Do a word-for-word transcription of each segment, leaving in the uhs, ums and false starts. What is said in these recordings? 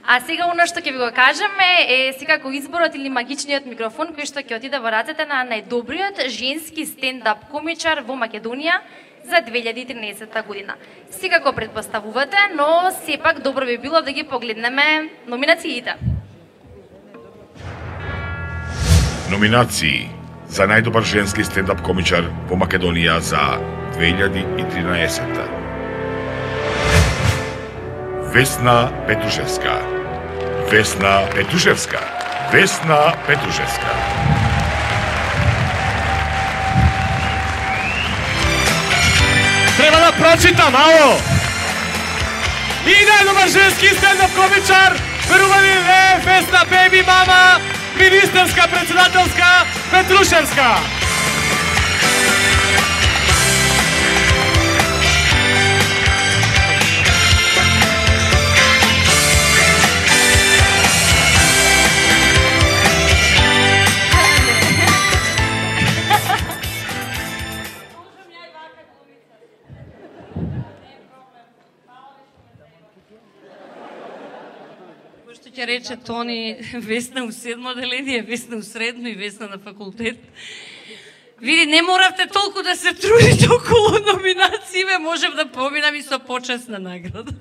А сега оно што ќе ви го кажеме е секако изборот или магичниот микрофон кој што ќе отиде во рацете на најдобриот женски стендап комичар во Македонија за две илјади и тринаесетта година. Секако претпоставувате, но сепак добро би било да ги погледнеме номинациите. Номинации за најдобар женски стендап комичар во Македонија за две илјади и тринаесетта. Весна Петушевска. Весна Петушевска. Весна Петушевска. Треба да прочитам, ало! И најдобар женски стендап комичар, верували е Весна Беби Мама, министерска председателска Петрушевска. Ќе рече Тони, Весна у седмо оделение, Весна у средно и Весна на факултет. Види, не моравте толку да се трудите околу номинациите, можев да поминам и со почесна награда.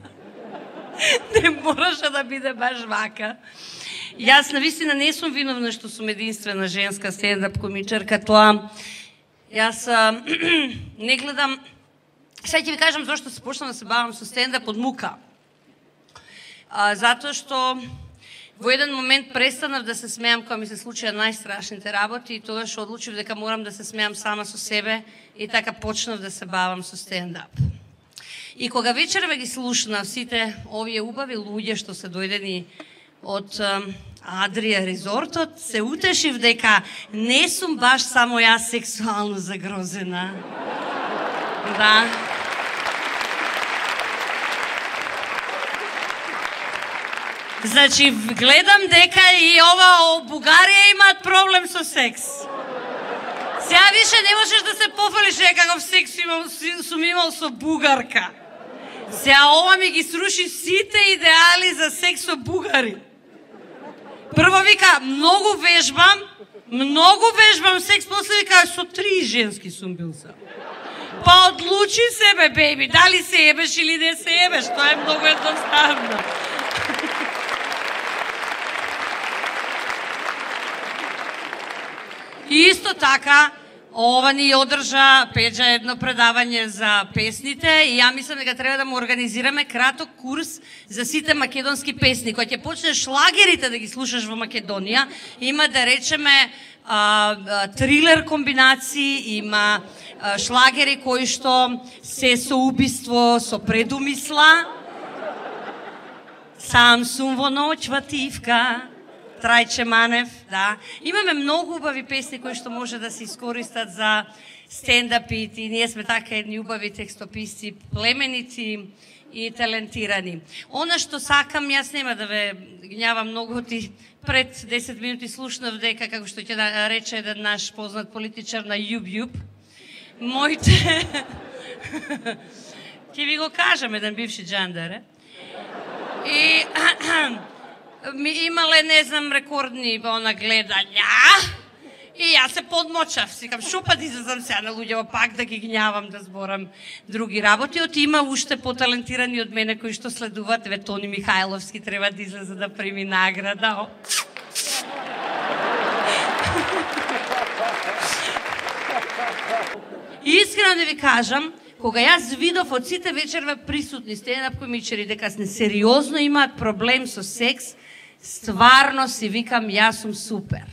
Не мораше да биде баш вака. Јас навистина не сум виновна што сум единствена женска стендап комичарка, тоа јас а, не гледам. Сега ќе ви кажам зашто се почнам да се бавам со стендап од мука. А, затоа што во еден момент престанав да се смеам кога ми се случија најстрашните работи и тогаш одлучив дека морам да се смеам сама со себе и така почнав да се бавам со стендап. И кога вечерва ги слушнав сите овие убави луѓе што се дојдени од Адрија резортот, се утешив дека не сум баш само јас сексуално загрозена. Да. Значи, гледам дека и ова Бугарија имаат проблем со секс. Сега више не можеш да се пофалиш дека каков секс сум имал со бугарка. Сега ова ми ги сруши сите идеали за секс со бугари. Прво вика, многу вежбам, многу вежбам секс, после вика, со три женски сум бил сам. Па одлучи себе, беби, дали се ебеш или не се ебеш, тоа е многу едноставно. И исто така, ова ни одржа Пеџа едно предавање за песните и ја мислам дека треба да му организираме краток курс за сите македонски песни. Кога ќе почнеш шлагерите да ги слушаш во Македонија, има да речеме а, а, трилер комбинации, има а, шлагери кои што се со убиство, со предумисла. Сам сум во ноќ вативка. Трајче Манев, да. Имаме многу убави песни кои што може да се искористат за стендапите и ние сме така едни убави текстописци, племенити и талентирани. Она што сакам, јас нема да ве гњавам многу, ти пред десет минути слушнав дека, како што ќе да рече еден наш познат политичар на Јуб-Јуб, моите... ќе ви го кажам, еден бивши джандар, и... ми имале, не знам, рекордни она гледања и јас се подмочав. Сикам, шо па да излезам сега на луѓето пак да ги гњавам, да зборам други работи. Оти има уште поталентирани од мене кои што следуваат. Еве Тони Михајловски треба да излезе да прими награда. И искрено да ви кажам, кога јас видов од сите вечерва присутни стендап комичари дека не сериозно имаат проблем со секс, стварно си викам, јас сум супер.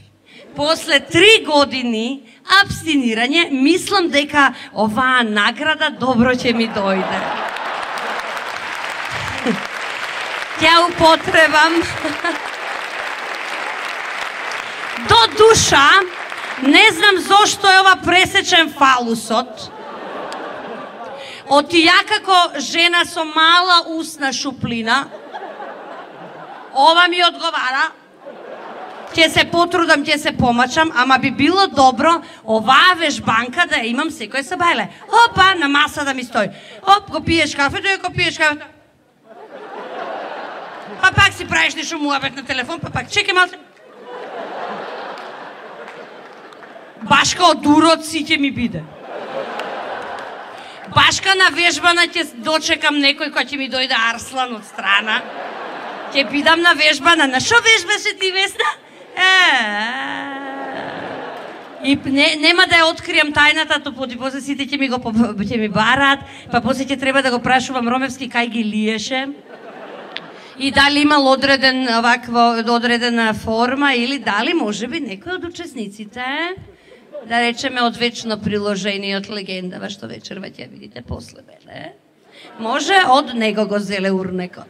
После три години абстинирање, мислам дека оваа награда добро ќе ми дојде. Ќе употребам. До душа, не знам зошто е ова пресечен фалусот. Оти ја како жена со мала усна шуплина, ова ми одговара, ќе се потрудам, ќе се помачам, ама би било добро оваа вежбанка да имам секој сабајле. Опа, на маса да ми стои. Оп, го пиеш кафето и го пиеш кафето. Па пак си правиш нешто муабет на телефон, па пак чекай малце. Башка од урод си ќе ми биде. Башка на вежбана ќе дочекам некој кој ќе ми дојде Арслан од страна. Ќе бидам на вежбана. На шо вежбаше ти, Весна? И не, нема да ја откријам тајната, то поди после сите ќе ми го ќе ми барат, па после ќе треба да го прашувам Ромевски кај ги лиеше. И дали имал одреден овакво одредена форма или дали можеби некој од учесниците, да речеме од вечно приложение од легендава што вечерва ќе видите после мене. Може од него го зеле урнекот.